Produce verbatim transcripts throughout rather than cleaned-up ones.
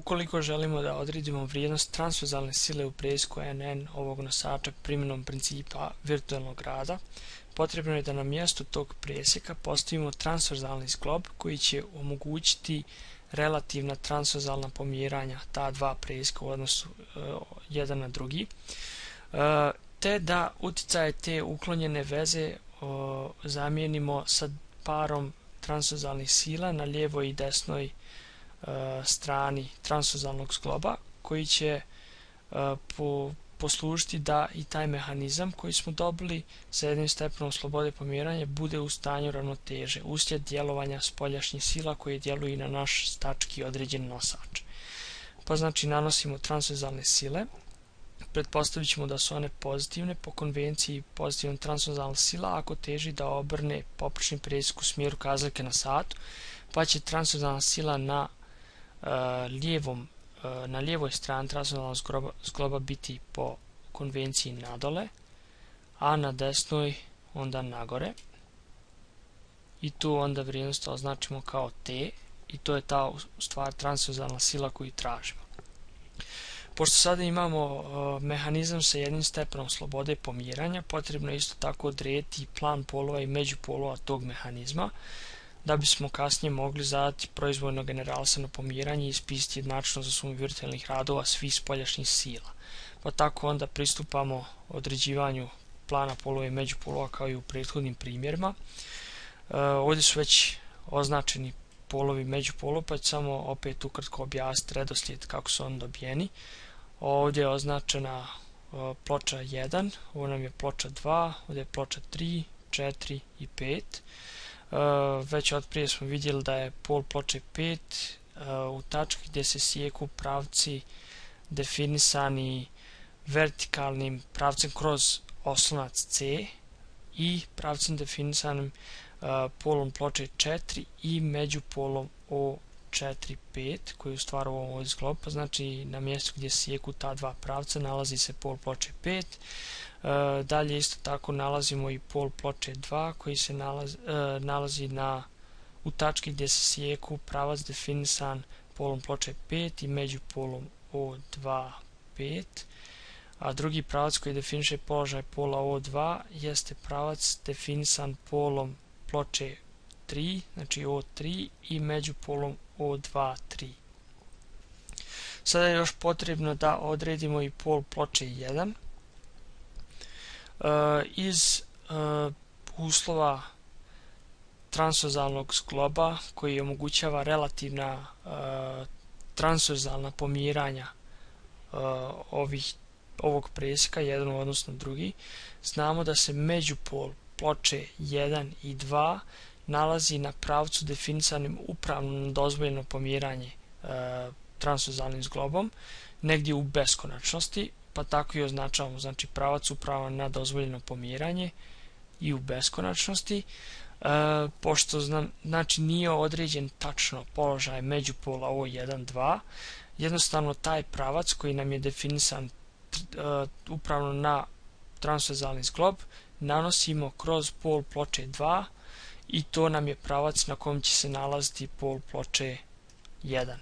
Ukoliko želimo da odredimo vrijednost transverzalne sile u presjeku N N ovog nosača primjenom principa virtualnog rada, potrebno je da na mjestu tog presjeka postavimo transverzalni zglob koji će omogućiti relativna transverzalna pomjeranja ta dva presjeka u odnosu uh, jedan na drugi, uh, te da utjecaje te uklonjene veze uh, zamijenimo sa parom transverzalnih sila na lijevoj i desnoj uh, strani transverzalnog zgloba, koji će uh, po, poslužiti da i taj mehanizam koji smo dobili sa jednim stepenom slobode pomjeranja bude u stanju ravnoteže uslijed djelovanja spoljašnjih sila koje djeluju na naš stački određen nosač. Pa znači nanosimo transverzalne sile, pretpostavit ćemo da su one pozitivne, po konvenciji pozitivna transverzalna sila ako teži da obrne poprečni presjek u smjeru kazaljke na satu, pa će transverzalna sila na uh, lijevom na lijevoj strani transverzalnog zgloba, zgloba biti po konvenciji nadole, a na desnoj onda nagore. I tu onda vrijednost označimo kao T i to je ta stvar transverzalna sila koju tražimo. Pošto sada imamo uh, mehanizam sa jednim stepenom slobode pomjeranja, potrebno je isto tako odrediti plan polova i međupolova tog mehanizma, da bismo kasnije mogli zadati proizvoljno generalisano pomjeranje i ispisati jednačnost za sumu virtualnih radova svih spoljašnjih sila. Pa tako onda pristupamo određivanju plana polova i međupolova kao i u prethodnim primjerima. E, ovdje su već označeni polovi i međupolova, pa ću samo opet ukratko objasniti redoslijed kako su oni dobijeni. Ovdje je označena e, ploča jedan, ovo nam je ploča dva, ovdje je ploča tri, četiri i pet. Uh, već od prije smo vidjeli da je pol ploče pet uh, u tački gdje se sijeku pravci definisani vertikalnim pravcem kroz oslonac C i pravcem definisanim uh, polom ploče četiri i međupolom O četiri pet koji je u stvari u ovom zglobu. Znači na mjestu gdje se sijeku ta dva pravca nalazi se pol ploče pet. Uh, dalje isto tako nalazimo i pol ploče dva koji se nalazi, uh, nalazi na, u tački gdje se sijeku pravac definisan polom ploče pet i među polom O dva pet, a drugi pravac koji definiše položaj pola O dva jeste pravac definisan polom ploče tri, znači O tri i među polom O dva tri. Sada je još potrebno da odredimo i pol ploče jedan. Uh, iz uh, uslova transverzalnog zgloba koji omogućava relativna uh, transverzalna pomjeranja uh, ovih, ovog presjeka jedan u odnosu na drugi, znamo da se međupol ploče jedan i dva nalazi na pravcu definisanim upravno dozvoljeno pomjeranje uh, transverzalnim zglobom negdje u beskonačnosti, pa tako i označavamo, znači pravac uprava na dozvoljeno pomjeranje i u beskonačnosti. E, pošto znam, znači nije određen tačno položaj međupola O jedan dva, jednostavno taj pravac koji nam je definisan e, upravno na transverzalni zglob nanosimo kroz pol ploče dva i to nam je pravac na kojem će se nalaziti pol ploče jedan.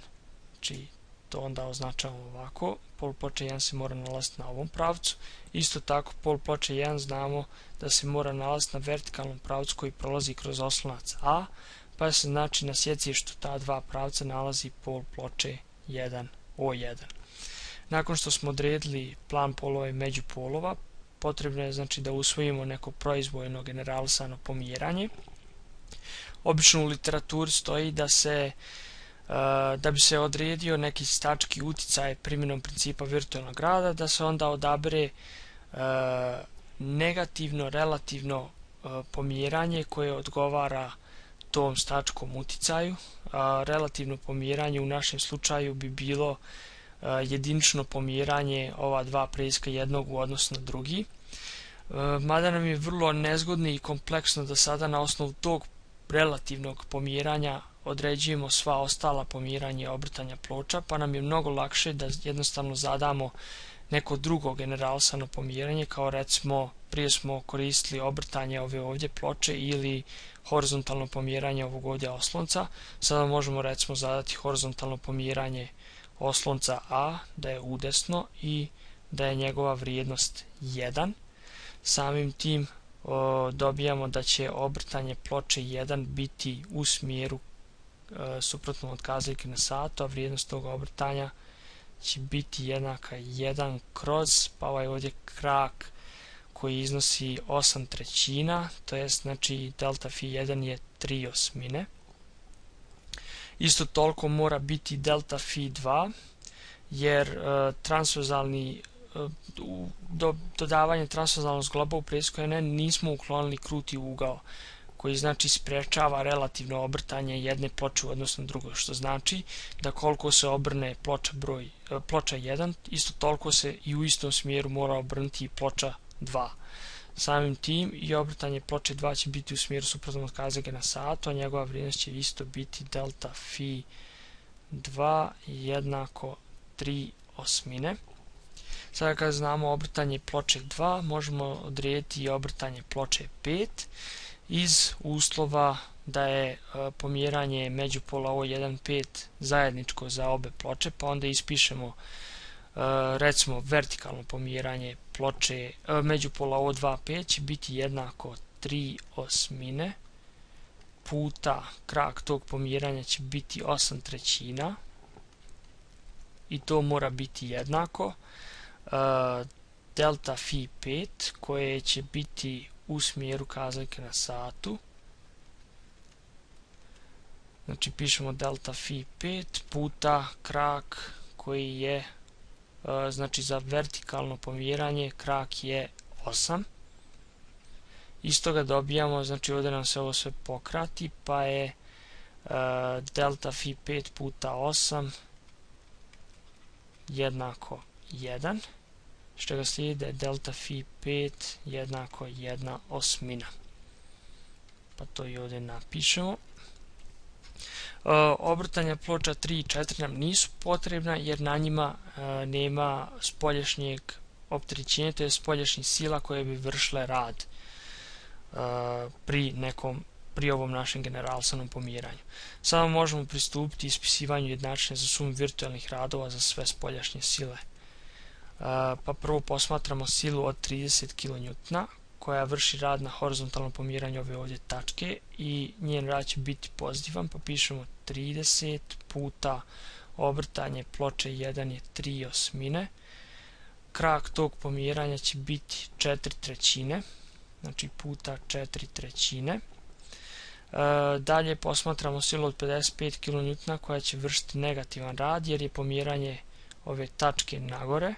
Znači to onda označavamo ovako, pol ploče jedan se mora nalaziti na ovom pravcu, isto tako pol ploče jedan znamo da se mora nalaziti na vertikalnom pravcu koji prolazi kroz oslonac A, pa se znači na sjecištu ta dva pravca nalazi pol ploče jedan O jedan. Nakon što smo odredili plan polova i međupolova, potrebno je znači da usvojimo neko proizvoljno generalisano pomjeranje. Obično u literaturi stoji da se Uh, da bi se odredio neki stački utjecaj primjenom principa virtualnog rada, da se onda odabere uh, negativno relativno uh, pomjeranje koje odgovara tom stačkom utjecaju. Uh, relativno pomjeranje u našem slučaju bi bilo uh, jedinično pomjeranje ova dva presjeka jednog u odnosu na drugi. Uh, mada nam je vrlo nezgodno i kompleksno da sada na osnovu tog relativnog pomjeranja određujemo sva ostala pomjeranja i obrtanja ploča, pa nam je mnogo lakše da jednostavno zadamo neko drugo generalisano pomjeranje, kao recimo prije smo koristili obrtanje ove ovdje ploče ili horizontalno pomjeranje ovog ovdje oslonca. Sada možemo recimo zadati horizontalno pomjeranje oslonca A, da je udesno i da je njegova vrijednost jedan. Samim tim o, dobijamo da će obrtanje ploče jedan biti u smjeru e, suprotno od kazaljke na satu, a vrijednost tog obrtanja će biti jednaka jedan kroz, pa ovaj ovdje krak koji iznosi osam trećina, to jest znači delta fi jedan je tri osmine. Isto toliko mora biti delta fi dva, jer e, transverzalni e, do, dodavanje transverzalnog zgloba u presjeku en en nismo uklonili kruti ugao, koji znači sprečava relativno obrtanje jedne ploče u odnosu na drugo, što znači da koliko se obrne ploča broj ploča jedan, isto toliko se i u istom smjeru mora obrnuti i ploča dva. Samim tim i obrtanje ploče dva će biti u smjeru suprotno od kazaljke na satu, a njegova vrijednost će isto biti delta fi dva jednako tri osmine. Sada kad znamo obrtanje ploče dva, možemo odrediti i obrtanje ploče pet iz uslova da je e, pomjeranje međupola o jedan pet zajedničko za obe ploče, pa onda ispišemo e, recimo vertikalno pomjeranje ploče e, međupola o dva pet će biti jednako tri osmine puta krak tog pomjeranja će biti osam trećina i to mora biti jednako e, delta fi pet koje će biti u smjeru kazaljke na satu. Znači pišemo delta fi pet puta krak koji je e, znači za vertikalno pomjeranje krak je osam. Iz toga dobijamo, znači ovdje nam se ovo sve pokrati, pa je e, delta fi pet puta osam jednako jedan. Što čega slijedi da je delta fi pet jednako jedna osmina. Pa to i ovdje napišemo. E, obrtanja ploča tri i četiri nam nisu potrebna jer na njima e, nema spoljašnjeg opterećenja, to je spoljašnjih sila koje bi vršile rad e, pri nekom pri ovom našem generalsanom pomjeranju. Samo možemo pristupiti ispisivanju jednačine za sumu virtualnih radova za sve spoljašnje sile. Uh, pa prvo posmatramo silu od trideset kilonewtona koja vrši rad na horizontalnom pomjeranju ove ovdje tačke i njen rad će biti pozitivan, pa pišemo trideset puta obrtanje ploče jedan je tri osmine. Krak tog pomjeranja će biti četiri trećine, znači puta četiri trećine. Uh, dalje posmatramo silu od pedeset pet kilonewtona koja će vršiti negativan rad jer je pomjeranje ove tačke nagore,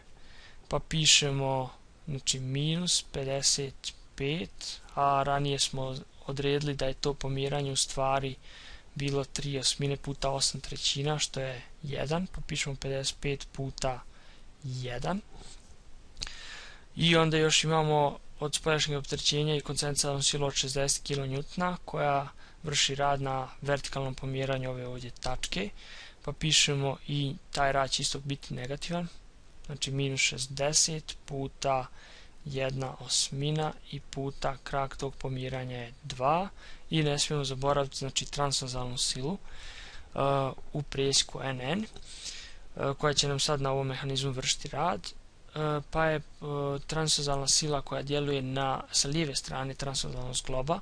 pa pišemo znači minus pedeset pet, a ranije smo odredili da je to pomjeranje u stvari bilo tri osmine puta osam trećina, što je jedan, pa pišemo pedeset pet puta jedan. I onda još imamo od spoljašnjeg opterećenja i koncentracijnu silu od šezdeset kilonewtona koja vrši rad na vertikalnom pomjeranju ove ovdje tačke, pa pišemo i taj rad će isto biti negativan, znači minus šezdeset puta jedna osmina i puta krak tog pomjeranja je dva i ne smijemo zaboraviti znači transverzalnu silu uh, u presjeku en en uh, koja će nam sad na ovom mehanizmu vršiti rad, uh, pa je uh, transverzalna sila koja djeluje na, sa lijeve strane transverzalnog zgloba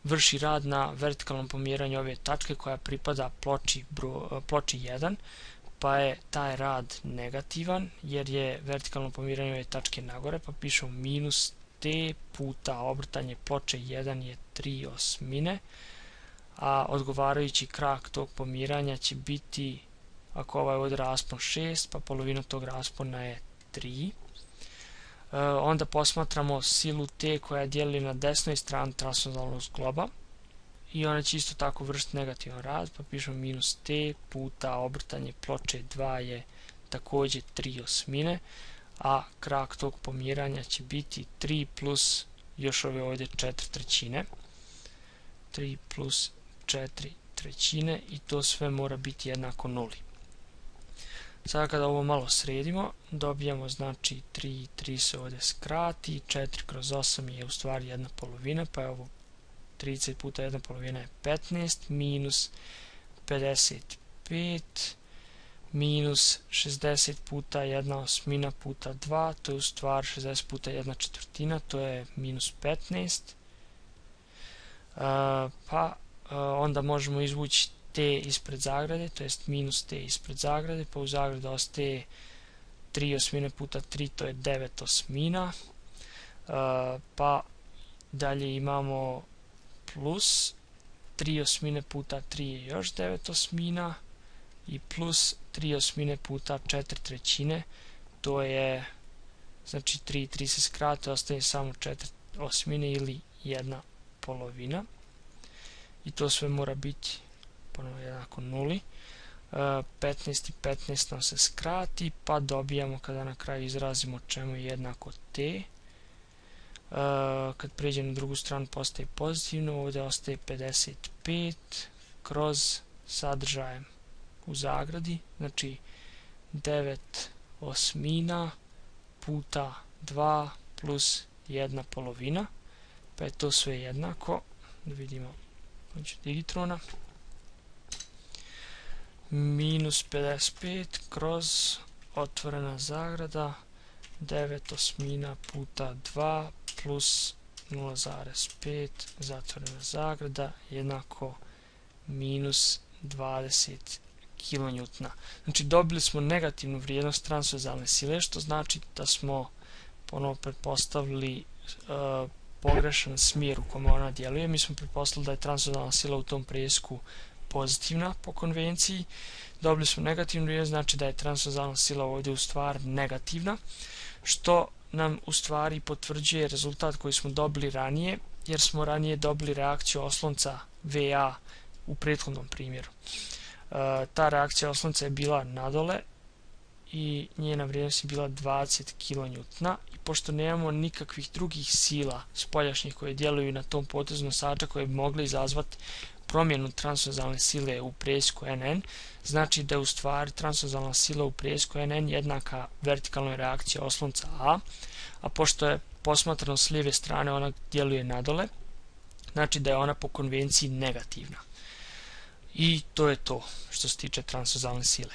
vrši rad na vertikalnom pomjeranju ove tačke koja pripada ploči, bro, ploči jedan, pa je taj rad negativan jer je vertikalno pomjeranje ove tačke nagore, pa pišemo minus t puta obrtanje ploče jedan je tri osmine, a odgovarajući krak tog pomjeranja će biti, ako ovaj ovdje raspon šest, pa polovina tog raspona je tri. E, onda posmatramo silu t koja djeluje na desnoj strani transverzalnog zgloba i ona će isto tako vršiti negativan rad, pa pišemo minus t puta obrtanje ploče dva je također tri osmine, a krak tog pomjeranja će biti tri plus još ove ovdje četiri trećine. tri plus četiri trećine i to sve mora biti jednako nuli. Sada kada ovo malo sredimo, dobijamo znači tri, tri se ovdje skrati, četiri kroz osam je u stvari jedna polovina, pa je ovo trideset puta jedna polovina je petnaest, minus pedeset pet, minus šezdeset puta jedna osmina puta dva, to je u stvari šezdeset puta jedna četvrtina, to je minus petnaest. Uh, pa uh, onda možemo izvući t ispred zagrade, to jest minus t ispred zagrade, pa u zagradi ostaje tri osmine puta tri, to je devet osmina. Uh, pa dalje imamo plus tri osmine puta tri je još devet osmina i plus tri osmine puta četiri trećine, to je znači tri, tri se skrate, ostaje samo četiri osmine ili jedna polovina i to sve mora biti ponovno jednako nuli. Uh, petnaest i petnaest nam se skrati, pa dobijamo kada na kraju izrazimo čemu je jednako t. Uh, kad pređem na drugu stranu postaje pozitivno, ovdje ostaje pedeset pet kroz sadržajem u zagradi, znači devet osmina puta dva plus jedna polovina, pa je to sve jednako, da vidimo pomoću digitrona, minus pedeset pet kroz otvorena zagrada devet osmina puta dva plus nula zarez pet zatvorena zagrada jednako minus dvadeset kilonjutna. Znači dobili smo negativnu vrijednost transverzalne sile, što znači da smo ponovo pretpostavili uh, pogrešan smjer u kome ona djeluje. Mi smo pretpostavili da je transverzalna sila u tom presjeku pozitivna po konvenciji. Dobili smo negativnu vrijednost, znači da je transverzalna sila ovdje u stvari negativna, što nam u stvari potvrđuje rezultat koji smo dobili ranije, jer smo ranije dobili reakciju oslonca V A u prethodnom primjeru. Uh, ta reakcija oslonca je bila nadole i njena vrijednost je bila dvadeset kilonjutna i pošto nemamo nikakvih drugih sila spoljašnjih koje djeluju na tom potezu nosača koje bi mogle izazvati promjenu transverzalne sile u presjeku N N, znači da je u stvari transverzalna sila u presjeku N N jednaka vertikalnoj reakciji oslonca A, a pošto je posmatrano s lijeve strane ona djeluje nadole, znači da je ona po konvenciji negativna. I to je to što se tiče transverzalne sile.